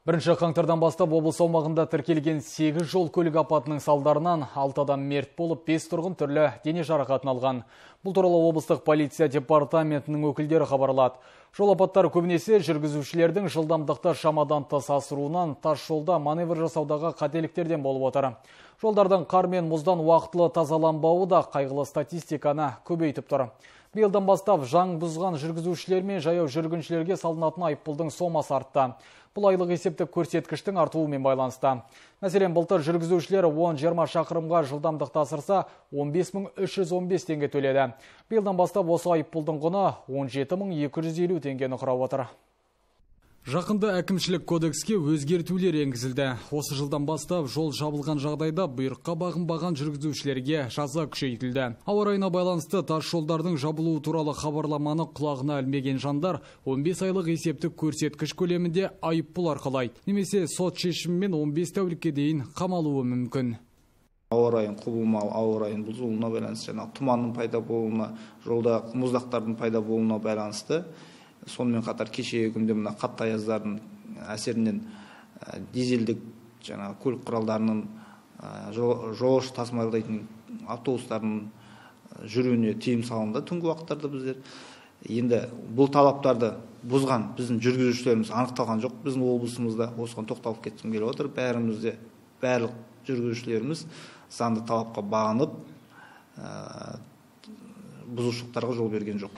Бірінші қаңтардан бастап облыс аумағында тіркелген 8 жол көлік апатының салдарынан 6 адам мерт болып, 5 тұрғын түрлі дене жарақатын алған. Бұл туралы облыстық полиция департаментінің өкілдері хабарлады. Жол апаттары көбінесе жүргізушілердің жылдамдықты шамадан тыс асыруынан, тас жолда маневр жасаудағы қателіктерден болып отыр. Жолдардың қар мен мұздан уақытылы тазаланбауы да қайғылы статистиканы көбейтіп тұр. Биылдан бастап заң бұзған жүргізушілер мен жаяу жүргіншілерге салынатын айыппұлдың сомасы артты. Бұл айлық есептік көрсеткіштің артуымен байланысты. Мәселен, былтыр жүргізушілер 10-20 шақырымға жылдамдықты асырса 15.315 теңге төледі. Биылдан бастап осы айыппұлдың құны 17.250 теңгені құрап отыр. Жақында әкімшілік кодекске өзгертулер енгізілді. Осы жылдан бастап жол жабылған жағдайда бұйрыққа бағынбаған жүргізушілерге жаза күшейтілді. Ауа райына байланысты тас жолдардың жабылуы туралы хабарламаны құлағына ілмеген жандар 15 айлық есептік көрсеткіш көлемінде айыппұл арқалайды. Немесе сот шешімімен 15 тәулікке дейін қамалуы мүмкін. Ауа райын құбылмалы, ауа райын бұзылуына байланысты, тұманның пайда болуына, жолда мұздақтардың пайда болуына байланысты. Сонымен қатар кешегі күнде мына қатты аяздардың әсерінен дизельдік көлік құралдарының жолаушы тасымалдайтын автобустардың жүруіне тыйым салынды түнгі уақыттарда біздер. Енді бұл талаптарды бұзған біздің жүргізушілеріміз анықталған жоқ. Біздің облысымызда осыған тоқталып кеткім келіп отыр. Барлық жүргізушілеріміз заңды талапқа бағынып бұзушылықтарға жол берген жоқ.